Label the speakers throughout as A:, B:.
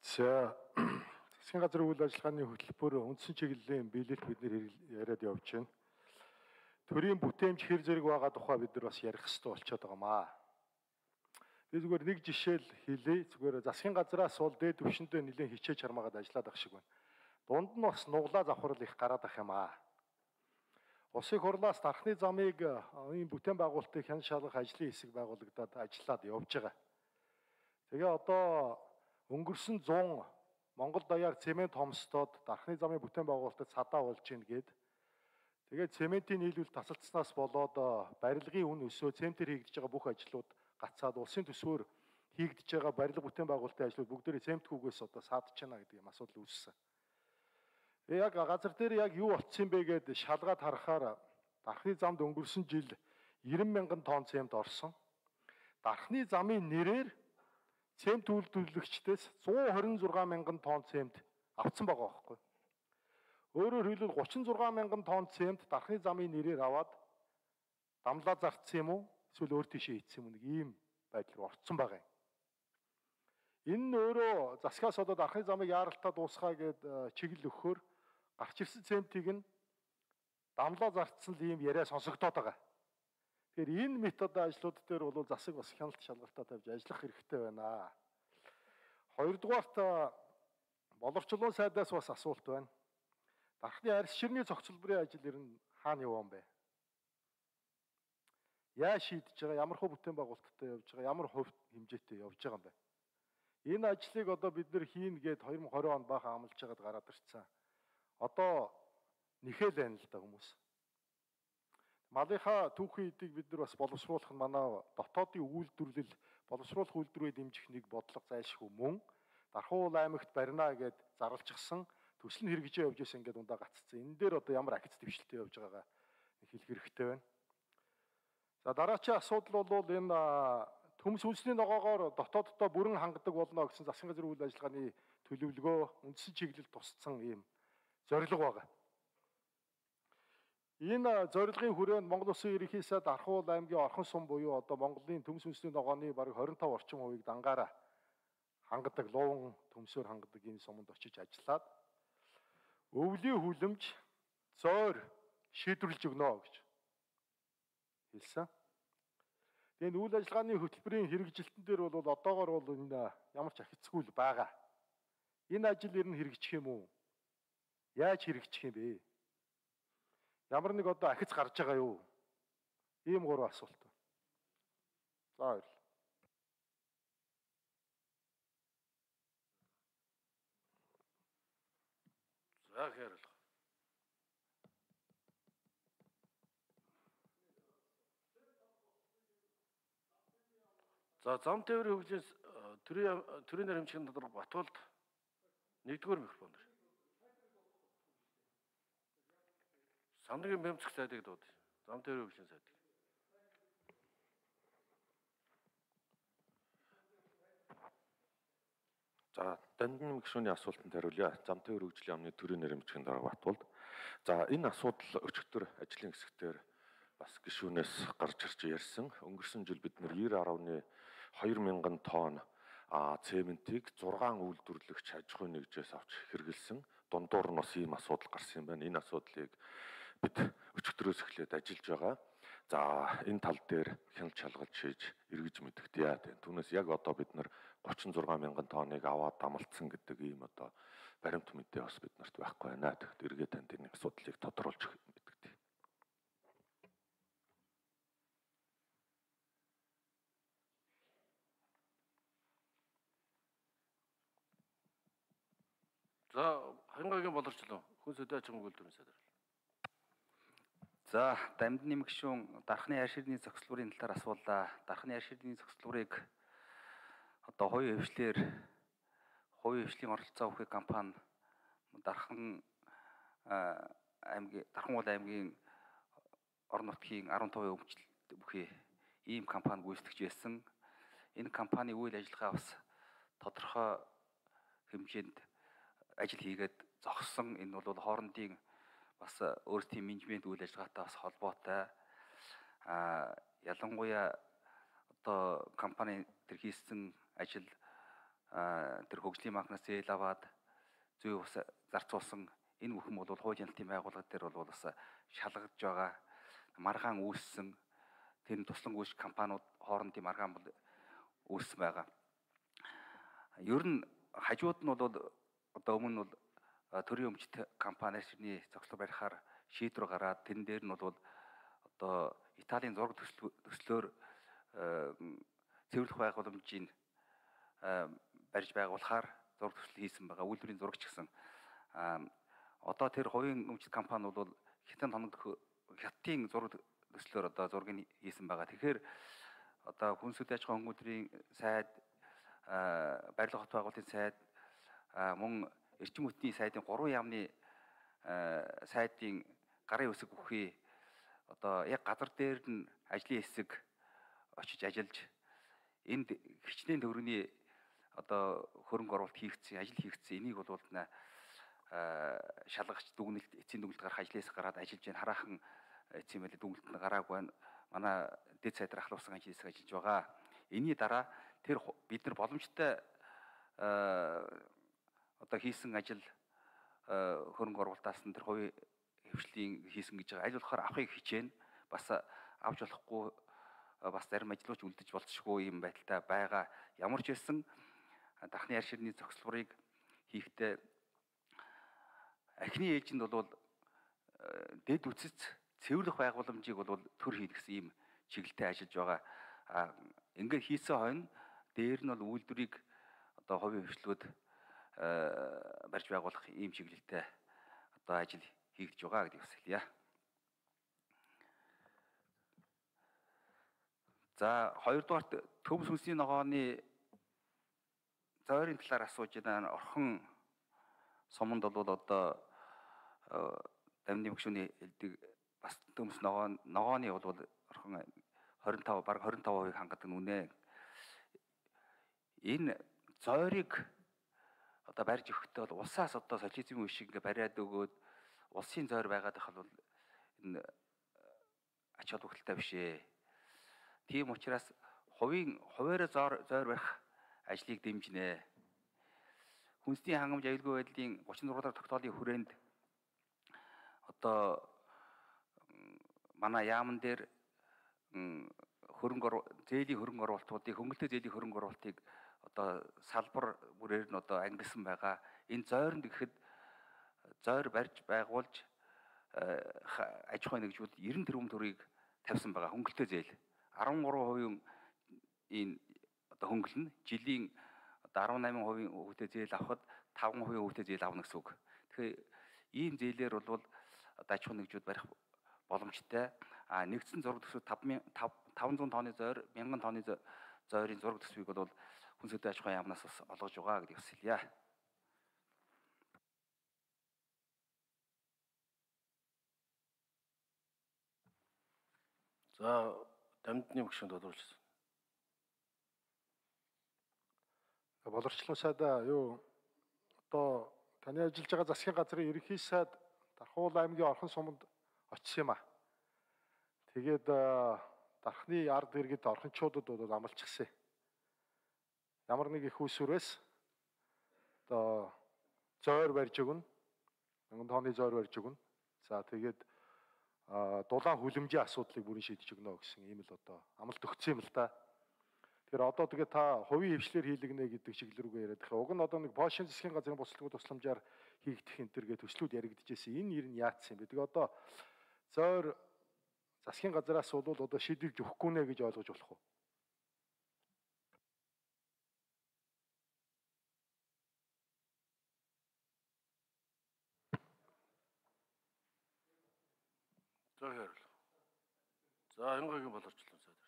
A: За засгийн газрын үйл ажиллагааны хөтөлбөр үндсэн чиглэлийн биелэлт бид нэр яриад явж байна. Төрийн бүтээмж хэр зэрэг байгаа тухай бид нар бас ярих хэрэгтэй болчиход байгаамаа. Би зүгээр нэг жишээл хэлье. Зүгээр засгийн газраас бол дээд түвшиндээ нэлээд хичээж хармаагаад ажиллаад ах шиг байна. Дунд нь бас нуглаа завхрал их гараад ах юм аа. Улсын хурлаас дархны замыг энэ бүтээн байгуулалтыг хян шалгах ажлын хэсэг байгуулагдаад ажиллаад явж байгаа. Тэгээ одоо өнгөрсөн 100 Монгол даяар цемент хомсдоод дархны замын бүтээн байгуулалтад садаа болж гин гээд тэгээд цементийн нийлүүл тасалдсанаас болоод барилгын үн өсөө цементээр хийгдэж байгаа бүх ажлууд гацаад улсын төсвөөр хийгдэж байгаа барилга бүтээн байгуулалтын ажлууд бүгдээрээ цементгүйгээс одоо саадж байна гэдэг юм асуудал үүссэн. Тэгээ яг газар дээр яг юу болцсон бэ гэдээ шалгаад харахаар дархны замд өнгөрсөн жил 90 мянган тонн цемент орсон. Дархны замын нэрээр цемент үйлдвэрлэгчдээс 126 мянган тонн цемент авцсан байгаа байхгүй. Өөрөөр хэлбэл 36 мянган тонн цемент дархны замын нэрээр аваад дамлаа зарцсан юм уу? Эсвэл өөр тийшээ ийдсэн юм уу? Нэг ийм байдал руу орцсон байгаа юм. Энэ нь өөрөө засгаас одоо дархны замыг яаралтаа дуусгаа гэд чиглэл өгөхөөр гарч ирсэн цементийг нь дамлаа зарцсан л ийм яриа сонсогдоод байгаа. Тэгэхээр энэ методын ажлууд дээр бол засаг бас хяналт шалгалтаа тавьж ажиллах хэрэгтэй байна. Хоёрдугаарт боловчлон сайдаас бас асуулт байна. Дархны арьс ширний цогцлборын ажил ер нь хаана явсан бэ? Яа шийдэж байгаа, ямар хувь бүтээн байгуулалттай явж байгаа, ямар хувь хэмжээтэй явж байгаа юм бэ? Энэ ажлыг одоо бид нэр хийн гээд 2020 онд баахан амлаж байгаад гараад ирсэн. Одоо нэхэл байна л да хүмүүс. Малынхаа түүхийн эдийг бид нар бас боловсруулах нь манай дотоодын үйлдвэрлэл, боловсруулах үйлдвэрээ дэмжих нэг бодлого зайлшгүй мөн Дархуул аймагт барина гэд зарлчихсан төсөл нь хэрэгжиж явж байсан ингээд ундаа гаццсан. Энэ дээр одоо ямар акц дэвшилтэй явж байгаагаа хэлэх хэрэгтэй байна. За дараачийн асуудал бол энэ төмс үндэсний ногоогоор дотооддоо бүрэн хангадаг болно гэсэн засгийн газрын үйл ажиллагааны төлөвлөгөө үндсэн чиглэлд тусцсан ийм зорилго байгаа. Энэ зорилгын хүрээнд Монгол Улсын ерөнхий сайд Дархуул аймгийн орхон сум буюу одоо Монголын төмс үндэсний ногооны бараг 25 орчим хувийг дангаараа хангадаг, луун төмсөөр хангадаг энэ суманд очиж ажиллаад өвлийн хүлэмж зойр шийдвэрлэж өгнө гэж хэлсэн. Тэгээд үйл ажиллагааны хөтөлбөрийн хэрэгжилтэн дээр бол одоогоор бол энэ ямар ч ахицгүй л байгаа. Энэ ажил ер нь хэрэгжих юм уу? Яаж хэрэгжих юм бэ? Ямар нэг одоо ахиц гарч байгаа юу? Ийм гурван асуулт. За баярлалаа. За хэрэг. За зам тээврийн хөгжлийн төрийн нэрмжийн тодорхой Батуулд 1-р микрофон дээр. Сандрын бэмцэх сайдыг дууд. Зам тээврийн хөгжлийн сайдыг.
B: За дандан гишүүний асуултанд хариулъя. Зам тээврийн хөгжлийн яамны төрийн нэрмжийн дарга Батуулд. За энэ асуудал өчигдөр ажлын хэсгээр бас гишүүнээс гарч ирж ярьсан. Өнгөрсөн жил бид нэр 90.2 мянган тонн цементийг 6 үйлдвэрлэгч аж ахуйн нэгжээс авч хэрэгэлсэн. Дундуур нь бас ийм асуудал гарсан юм байна. Энэ асуудлыг бид өчигдрөөс эхлээд ажиллаж байгаа. За энэ тал дээр хяналт шалгалт шийдэж эргэж мэдэгдээ яа гэдэг. Түүнээс яг одоо бид нар 36 мянган тонныг аваад дамалцсан гэдэг ийм одоо баримт мэдээ бас бид нарт байхгүй байна. Тэгэхдээ эргээд танд энэ асуудлыг тодруулж мэдэгдээ.
C: За хангагийн боловчлон хүн сөдөө аж ахуйн үйлдвэрийн сайд.
D: За дамдны гишүүн дархны арьс ширний зохицлуурын талаар асуулаа. Дархны арьс ширний зохицлуурыг одоо хувийн хвшлийн оролцоо өгөх компани Дархан аймгийн орон нутгийн 15% өмчлөлт бүхий ийм компани гүйцэтгэж байсан. Энэ компани үйл ажиллагаа бас тодорхой хэмжээнд ажил хийгээд зогссон. Энэ бол хоорондын бас өөрсдийн менежмент үйл ажиллагаатай бас холбоотой. Ялангуяа одоо компани тэр хийсэн ажил тэр хөгжлийн банкнаас зээл аваад зүй ус зарцуулсан энэ бүхэн бол хууль хяналтын байгууллага дээр бол бас шалгагдж байгаа. Маргаан үүссэн тэр туслан компаниуд хоорондын маргаан бол үүссэн байгаа. Ер нь хажууд нь бол одоо өмнө нь бол төрийн өмчт компани ширний зохицол барихаар шийдвэр гараад тэн дээр нь бол одоо Италийн зураг төслөөр цэвэрлэх байгууламжийг барьж байгуулахаар зураг төсөл хийсэн байгаа. Үйлдвэрийн зурагч гэсэн. Одоо тэр хувийн өмчт компани бол хятадын зураг төслөөр одоо зургийг хийсэн байгаа. Тэгэхээр одоо хүнс үдэ аж ахуйн хөтөлбөрийн сайд, барилга хот байгуулалтын сайд, мөн эрчим хүчний сайдын 3 яамны сайдын гарын үсэг бүхий одоо яг газар дээр нь ажлын хэсэг очиж ажиллаж энд хичнээн төгрөгийн одоо хөрөнгө оруулалт хийгдсэн, ажил хийгдсэн. Энийг бол шалгагч дүгнэлт, эцсийн дүгнэлт гарах ажлаас гараад ажиллаж байна. Хараахан эцсийн мэдээ дүгнэлт нь гараагүй байна. Манай дэд сайдар ахлуулсан ажил хэсэг ажиллаж байгаа. Энийний дараа тэр бид нар боломжтой одоо хийсэн ажил хөрөнгө оруулалтаас нь тэр хувийн хвшлийн хийсэн гэж байгаа. Аль болохоор авахыг хичээнэ. Бас авч болохгүй бас зарим ажлууч үлдэж болцсохгүй юм байдалтай байгаа. Ямар ч байсан дахны арь ширний зохицолборыг хийхдээ ахны ээлжинд бол дэд үцэц цэвэрлэх байгууламжийг бол төр хийнэ гэсэн ийм чиглэлтэй ажиллаж байгаа. Ингээд хийсэн хойно дээр нь бол үйлдвэрийг одоо хувийн хвшлүүд барьж байгуулах ийм чиглэлтэй одоо ажил хийгдэж байгаа гэдгийг хэлье. За хоёрдугаарт төмс хүнсний ногооны зойрын талаар асууж байна. Орхон суманд бол одоо дамны мөкшөний хэлдэг бас төмс ногооны бол орхон 25 баг 25% хангадаг нүнэ. Энэ зойрыг одоо барьж өгөхдөө бол улсаас одоо социализмын үе шиг ингээ бариад өгөөд улсын зойр байгаад их бол энэ ач холбогдолтой биш ээ. Тийм учраас хуваараа зойр барих ажлыг дэмжинэ. Хүнсний хангамж аюулгүй байдлын 36 дахь тогтоолын хүрээнд одоо манай яамн дээр зээлийн хөрөнгө оруулалтуудыг хөнгөлөлтөө зээлийн хөрөнгө оруулалтыг одоо салбар бүрээр нь одоо ангилсан байгаа. Энэ зойронд гэхэд зойр барьж байгуулж аж ахуй нэгжүүд 90 тэрбум төгрөгийг тавьсан байгаа хөнгөлөлтөө зээл. 13% энэ одоо хөнгөлнө. Жилийн одоо 18% хүүтэй зээл авахад 5% хүүтэй зээл авна гэсэн үг. Тэгэхээр ийм зээлээр бол одоо аж ахуй нэгжүүд барих боломжтой. Нэгдсэн зураг төсвүүд 500 тонны зойр, 1000 тонны зойрын зураг төсвийг бол хүнс үдэ аж ахуй яамнаас бас олгож байгаа гэдгийг хэлье.
C: За дамжны мөкшөнд тодорхойлсон.
A: Боловсролын сайдаа юу одоо таны ажиллаж байгаа засгийн газрын ерөнхий сайд Дархуул аймгийн Орхон суманд очсон юм а. Тэгээд дархны ард иргэд орхончуудад бол амлчихсан. Ямар нэг их усүрээс одоо зойр барьж өгнө. 1000 тонны зойр барьж өгнө. За тэгээд дулаан хүлэмжийн асуудлыг бүрэн шийдэж өгнө гэсэн ийм л одоо амлалт өгсөн юм л да. Тэгэхээр одоо тэгээ та хувийн хвшлэр хийлгэнэ гэдэг чиглэл рүүгээ яриад байгаа. Уг нь одоо нэг Польшийн засгийн газрын буцлагын тусламжаар хийгдэх энэ төргээ төслүүд яригдчихсэн. Энэ нэр нь яатсан юм бэ? Тэгээ одоо зойр засгийн газраас бол одоо шийдвэрж өгөхгүй нэ гэж ойлгож болох уу?
C: За хэрэл. За Хянгагийн боловсролын сайд.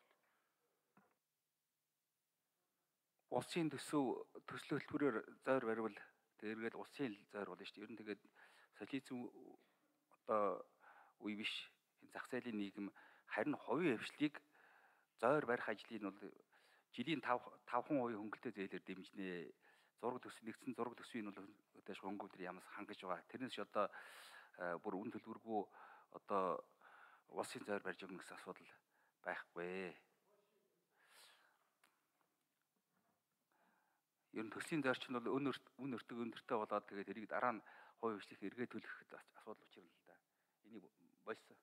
D: Улсын төсөв төслийн хөтөлбөрөөр зойр баривал тэргээд улсын зойр болно шүү дээ. Ер нь тэгээд социализм одоо үе биш энэ зах зээлийн нийгэм харин хувийн хвшлийг зойр барих ажлыг бол жилийн 5% хөнгөлөлтөө зээлээр дэмжинэ. Зураг төсөв нэгдсэн зураг төсвийг бол өдөөж хөнгөлөлтөөр ямаас хангаж байгаа. Тэрнээс одоо бүр үн төлбөргүй одоо улсын зойр барьж өгнө гэсэн асуудал байхгүй. Ер нь төслийн зарчим нь бол үн өртөг өндөртэй болоод тэгээд эрийг дараа нь хувь хвшлих эргээ төлөх асуудал учрал л да. Энийг болсон.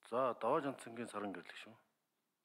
C: За даваа жанцангийн саран гэрлэх шүү.